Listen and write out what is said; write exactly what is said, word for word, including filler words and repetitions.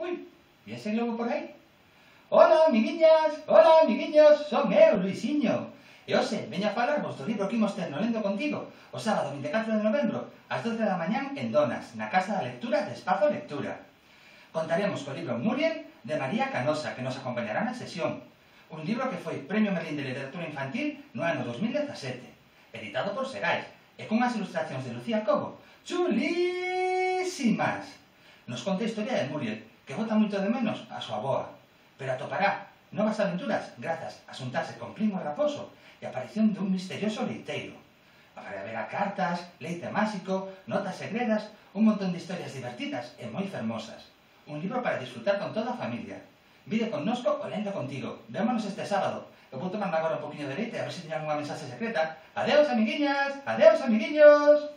Ui, e ese globo por aí? Hola, amiguiñas! Hola, amiguiños! Son eu, Luisiño. E hoxe veño a falarvos do libro que imos ter no Lendo Contigo o sábado vinte e catro de novembro ás doce da mañán en Donas, na Casa da Lectura de Espazo Lectura. Contaremos co libro Muriel de María Canosa, que nos acompañará na sesión. Un libro que foi Premio Merlín de Literatura Infantil no ano dos mil dezasete, editado por Segais, e cunhas ilustracións de Lucía Cobo chulísimas. Nos conta a historia de Muriel, que bota moito de menos a súa avoa, pero atopará novas aventuras grazas a xuntarse con Primo Raposo e a aparición dun misterioso leiteiro. Haberá cartas, leite máxico, notas segredas, un montón de historias divertidas e moi fermosas. Un libro para disfrutar con toda a familia. Vide connosco o Lendo Contigo. Vémonos este sábado. Eu vou tomar agora un poquinho de leite a ver se teñan unha mensaxe secreta. Adeus, amiguiñas! Adeus, amiguiños!